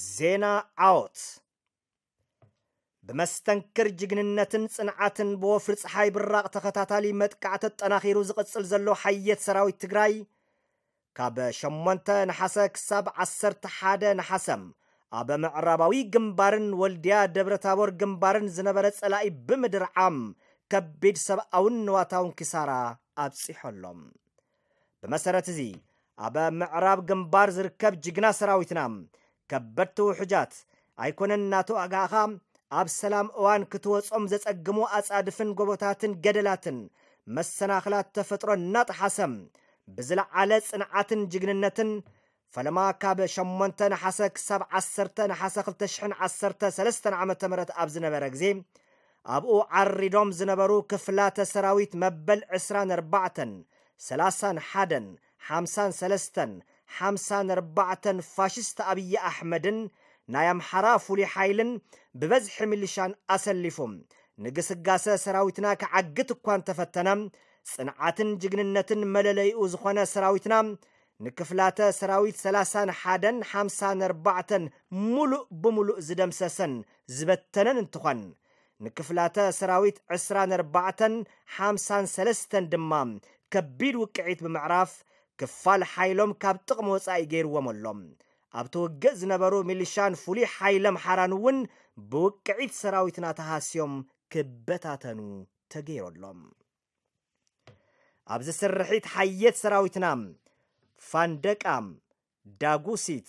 ዜና ዓወት። ብመስተንክር ጅግንነትን ጽንዓትን ብወፍሪ ጸሓይ ብራቕ ተኸታታሊ መጥቃዕቲ ኣጠናኺሩ ዝቕጽል ዘሎ ሓየት ሰራዊት ትግራይ፣ ካብ ሸሞንተ ነሓሰ ክሳብ ዓሰርተ ሓደ ነሓሰ ኣብ ምዕራባዊ ግንባርን ወልድያ ደብረታቦር ግንባርን ዝነበረ ጸላኢ ብምድርዓም ከቢድ ሰብኣውን ንዋታውን ኪሳራ ኣብጺሖሎም። ብመሰረት እዚ ኣብ ምዕራብ ግንባር ዝርከብ ጅግና ሰራዊትና ከበድቲ ውሑጃት ኣይኮነን እናተዋጋእኻ ኣብ ሰላም እዋን ክትወጾም ዘጸግሙ ኣጻድፍን ጎቦታትን ገደላትን መሰናኽላት ተፈጥሮ እናጠሓሰ ብዝለዓለ ጽንዓትን ጅግንነትን ፈለማ ካብ ሸሞንተ ነሓሰ ክሳብ ዓሰርተ ነሓሰ ክልተ ሽሕን ዓሰርተ ሰለስተን ዓመተ ምህረት ኣብ ዝነበረ ግዜ ኣብኡ ዓሪዶም ዝነበሩ ክፍላተ ሰራዊት መበል ዕስራን ኣርባዕተን ሰላሳን ሓደን ሓምሳን ሰለስተን ሓምሳን ኣርባዕተን ፋሽስት ኣብይ ኣሕመድን ናይ ኣምሓራ ፍሉይ ሓይልን ብበዝሒ ሚሊሻን ኣሰሊፉ ንግስጋሰ ሰራዊትና ክዓግት እኳ እንተፈተነ፣ ጽንዓትን ጅግንነትን መለለይኡ ዝኾነ ሰራዊትና ንክፍላተ ሰራዊት ሰላሳን ሓደን ሓምሳን ኣርባዕተን ሙሉእ ብሙሉእ ዝደምሰሰን ዝበተነን እንትኾን፣ ንክፍላተ ሰራዊት ዕስራን ኣርባዕተን ሓምሳን ሰለስተን ድማ ከቢድ ውቅዒት ብምዕራፍ ክፋል ሓይሎም ካብ ጥቕሚ ወጻኢ ገይርዎም ኣሎ። ኣብቲ ውግእ ዝነበሩ ሚሊሻን ፍሉይ ሓይሊ ኣምሓራን እውን ብውቅዒት ሰራዊትና ተሃስዮም ክበታተኑ ተገይሩ ኣሎ። ኣብዚ ስርሒት ሓየት ሰራዊትና ፋንደቃ፣ ዳጉሲት፣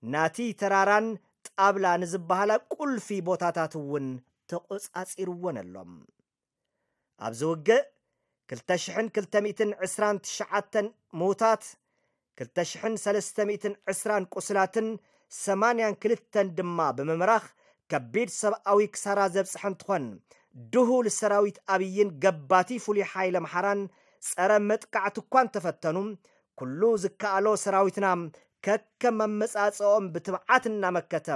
ናቲ ተራራን ጣብላ ንዝበሃላ ቁልፊ ቦታታት እውን ተቖጻጺርወን ኣሎ። ኣብዚ ውግእ ክልተ ሽሕን ክልተ ሚእትን ዕስራን ትሽዓተን ምዉታት፣ ክልተ ሽሕን ሰለስተ ሚእትን ዕስራን ቁስላትን ሰማንያን ክልተን ድማ ብምምራኽ ከቢድ ሰብኣዊ ክሳራ ዘብጽሐ እንትኾን፣ ድሁል ሰራዊት ኣብይን ገባቲ ፍሉይ ሓይሊ ኣምሓራን ጸረ መጥቃዕቲ እኳ እንተፈተኑ፣ ኩሉ ዝከኣሎ ሰራዊትና ከከም ኣመጻጽኦም ብትብዓት እናመከተ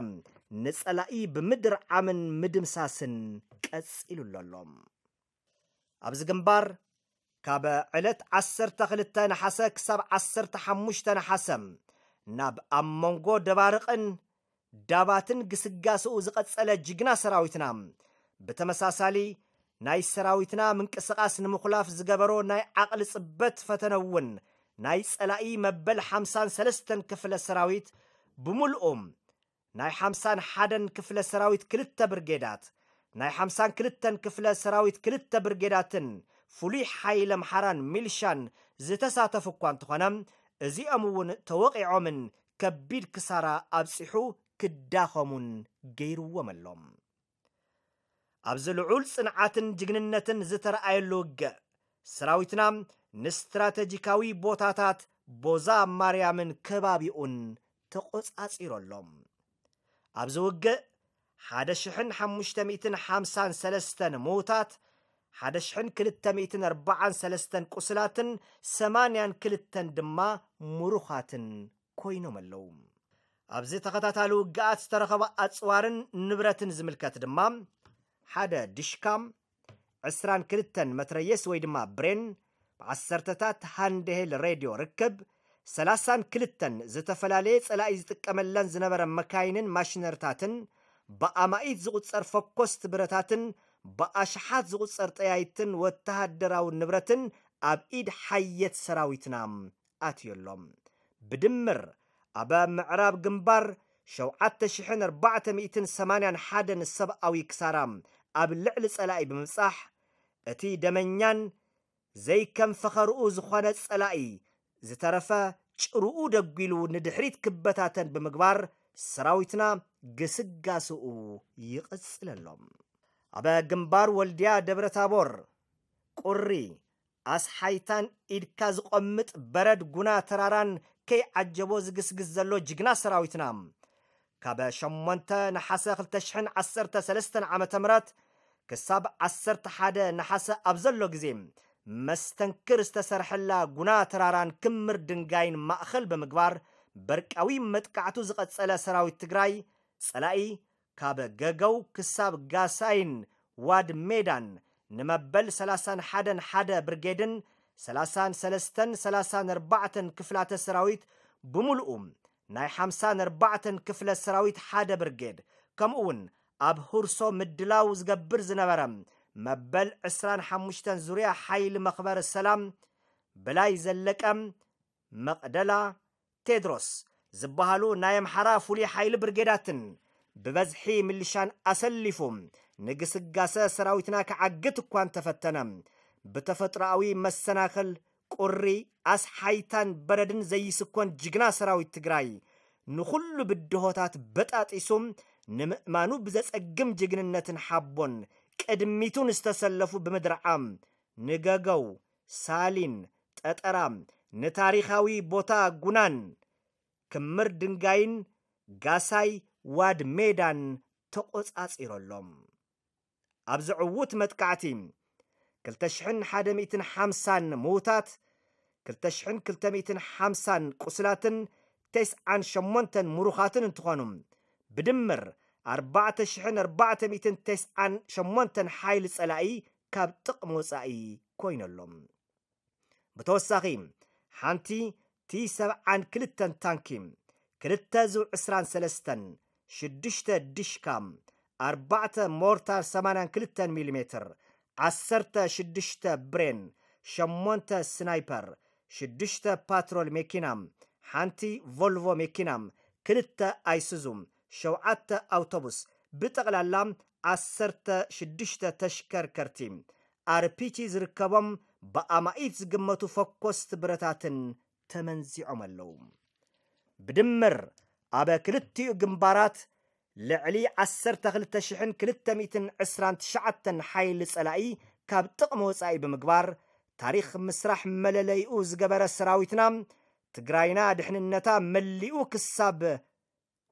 ንጸላኢ ብምድርዓምን ምድምሳስን ቀጺሉ ኣሎ። ኣብዚ ግንባር ካብ ዕለት ዓሰርተ ክልተ ነሓሰ ክሳብ ዓሰርተ ሓሙሽተ ነሓሰ ናብ ኣብ መንጎ ደባርቕን ዳባትን ግስጋስኡ ዝቐጸለ ጅግና ሰራዊትና፣ ብተመሳሳሊ ናይ ሰራዊትና ምንቅስቓስ ንምኹላፍ ዝገበሮ ናይ ዓቕሊ ጽበት ፈተነ እውን ናይ ጸላኢ መበል ሓምሳን ሰለስተን ክፍለ ሰራዊት ብምልኡ ናይ ሓምሳን ሓደን ክፍለ ሰራዊት ክልተ ብርጌዳት፣ ናይ ሓምሳን ክልተን ክፍለ ሰራዊት ክልተ ብርጌዳትን ፍሉይ ሓይሊ ኣምሓራን ሚልሻን ዝተሳተፉ እኳ እንተኾነ፣ እዚኦም እውን ተወቒዖምን ከቢድ ክሳራ ኣብጺሑ ክዳኸሙን ገይርዎም ኣሎ። ኣብዚ ልዑል ጽንዓትን ጅግንነትን ዝተረኣየሉ ውግእ፣ ሰራዊትና ንስትራተጂካዊ ቦታታት ቦዛ ማርያምን ከባቢኡን ተቖጻጺሩ ኣሎ። ኣብዚ ውግእ ሓደ ሽሕን ሓሙሽተ ሚእትን ሓምሳን ሰለስተን ምዉታት፣ ሓደ ሽሕን ክልተ ሚእትን ኣርባዓን ሰለስተን ቁስላትን ሰማንያን ክልተን ድማ ምሩኻትን ኮይኖም ኣለዉ። ኣብዚ ተኸታታሊ ውግኣት ዝተረኸበ ኣጽዋርን ንብረትን ዝምልከት ድማ፣ ሓደ ድሽካ፣ ዕስራን ክልተን መትረየስ ወይ ድማ ብሬን፣ ብዓሰርተታት ሃንድሄል ሬድዮ ርክብ፣ ሰላሳን ክልተን ዝተፈላለየ ጸላኢ ዝጥቀመለን ዝነበረ መካይንን ማሽነርታትን፣ ብኣማኢት ዝቑጸር ፈኮስቲ ብረታትን ብኣሽሓት ዝቑጸር ጠያይትን ወተሃደራዊ ንብረትን ኣብ ኢድ ሓየት ሰራዊትና ኣትዩ ኣሎ። ብድምር ኣብ ምዕራብ ግንባር ሸውዓተ ሽሕን ኣርባዕተ ሚእትን ሰማንያን ሓደን ሰብኣዊ ክሳራ ኣብ ልዕሊ ጸላኢ ብምብጻሕ፣ እቲ ደመኛን ዘይከም ፈኸርኡ ዝኾነ ጸላኢ ዝተረፈ ጭርኡ ደጒሉ ንድሕሪት ክበታተን ብምግባር፣ ሰራዊትና ግስጋስኡ ይቕጽል ኣሎ። ኣብ ግንባር ወልድያ ደብረታቦር፣ ቁሪ፣ ኣስሓይታን ኢድካ ዝቖምጥ በረድ ጉና ተራራን ከይዓጀቦ ዝግስግስ ዘሎ ጅግና ሰራዊትና፣ ካብ ሸሞንተ ነሓሰ ክልተ ሽሕን ዓሰርተ ሰለስተን ዓመተ ምህረት ክሳብ ዓሰርተ ሓደ ነሓሰ ኣብ ዘሎ ግዜ፣ መስተንክር ዝተሰርሐላ ጉና ተራራን ክምር ድንጋይን ማእኸል ብምግባር፣ በርቃዊ መጥቃዕቱ ዝቐጸለ ሰራዊት ትግራይ፣ ጸላኢ ካብ ገገው ክሳብ ጋሳይን ዋድ ሜዳን ንመበል ሰላሳን ሓደን ሓደ ብርጌድን ሰላሳን ሰለስተን ሰላሳን ኣርባዕተን ክፍላተ ሰራዊት ብምሉኡ ናይ ሓምሳን ኣርባዕተን ክፍለ ሰራዊት ሓደ ብርጌድ፣ ከምኡ እውን ኣብ ሁርሶ ምድላው ዝገብር ዝነበረ መበል ዕስራን ሓሙሽተን ዙርያ ሓይሊ መኽበሪ ሰላም፣ ብላይ ዘለቀ፣ መቕደላ፣ ቴድሮስ ዝበሃሉ ናይ ኣምሓራ ፍሉይ ሓይሊ ብርጌዳትን ብበዝሒ ምልሻን ኣሰሊፉ ንግስጋሰ ሰራዊትና ክዓግት እኳ እንተፈተነ፣ ብተፈጥሮኣዊ መሰናኽል ቁሪ፣ ኣስሓይታን በረድን ዘይስኮን ጅግና ሰራዊት ትግራይ፣ ንኹሉ ብድሆታት በጣጢሱ፣ ንምእማኑ ብዘጸግም ጅግንነትን ሓቦን ቅድሚቱ ንዝተሰለፉ ብምድርዓም፣ ንገገው፣ ሳሊን፣ ጠጠራ፣ ንታሪኻዊ ቦታ ጉናን፣ ክምር ድንጋይን፣ ጋሳይ፣ ዋድ ሜዳን ተቖጻጺሮሎም። ኣብዚ ዕዉት መጥቃዕቲ፣ ክልተ ሽሕን ሓደ ሚእትን ሓምሳን ምዉታት፣ ክልተ ሽሕን ክልተ ሚእትን ሓምሳን ቁስላትን ተስዓን ሸሞንተን ምሩኻትን እንትኾኑ፣ ብድምር ኣርባዕተ ሽሕን ኣርባዕተ ሚእትን ተስዓን ሸሞንተን ሓይሊ ጸላኢ ካብ ጥቕሚ ወጻኢ ኮይነሎም። ብተወሳኺ፣ ሓንቲ ቲ ሰብዓን ክልተን ታንኪ፣ ክልተ ዙ ዕስራን ሰለስተን፣ ሽዱሽተ ዲሽካ፣ ኣርባዕተ ሞርታር ሰማንያን ክልተን ሚሊሜትር፣ ዓሰርተ ሽዱሽተ ብሬን፣ ሸሞንተ ስናይፐር፣ ሽዱሽተ ፓትሮል መኪና፣ ሓንቲ ቮልቮ መኪና፣ ክልተ ኣይሱዙ፣ ሸውዓተ ኣውቶቡስ፣ ብጠቕላላ ዓሰርተ ሽዱሽተ ተሽከርከርቲ፣ ኣርፒጂ ዝርከቦም ብኣማኢት ዝግመቱ ፈኮስቲ ብረታትን ተመንዚዖም ኣለዉ። ብድምር ኣብ ክልቲኡ ግንባራት ልዕሊ ዓሰርተ ክልተ ሽሕን ክልተ ሚእትን ዕስራን ትሽዓተን ሓይሊ ጸላኢ ካብ ጥቕሚ ወጻኢ ብምግባር፣ ታሪኽ ምስራሕ መለለይኡ ዝገበረ ሰራዊትና፣ ትግራይና ድሕንነታ መሊኡ ክሳብ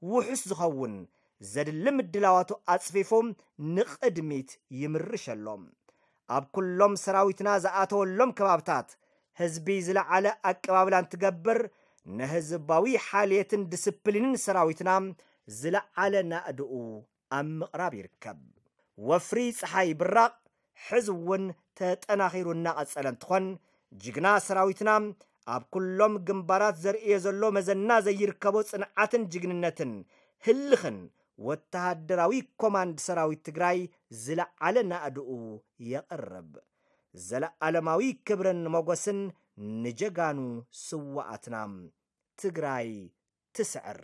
ውሑስ ዝኸውን ዘድሊ ምድላዋቱ ኣጽፊፉ ንቕድሚት ይምርሽ ኣሎ። ኣብ ኩሎም ሰራዊትና ዝኣተወሎም ከባብታት ህዝቢ ዝለዓለ ኣቀባብላ እንትገብር፣ ንህዝባዊ ሓልየትን ዲስፕሊንን ሰራዊትና ዝለዓለ ናእድኡ ኣብ ምቕራብ ይርከብ። ወፍሪ ጸሓይ ብራቕ ሕዚ እውን ተጠናኺሩ እናቐጸለ እንትኾን፣ ጅግና ሰራዊትና ኣብ ኩሎም ግንባራት ዘርእዮ ዘሎ መዘና ዘይርከቦ ጽንዓትን ጅግንነትን ህልኽን ወተሃደራዊ ኮማንድ ሰራዊት ትግራይ ዝለዓለ ናእድኡ የቕርብ። ዘለዓለማዊ ክብርን ሞገስን ንጀጋኑ ስዋኣትና። ትግራይ ትስዕር።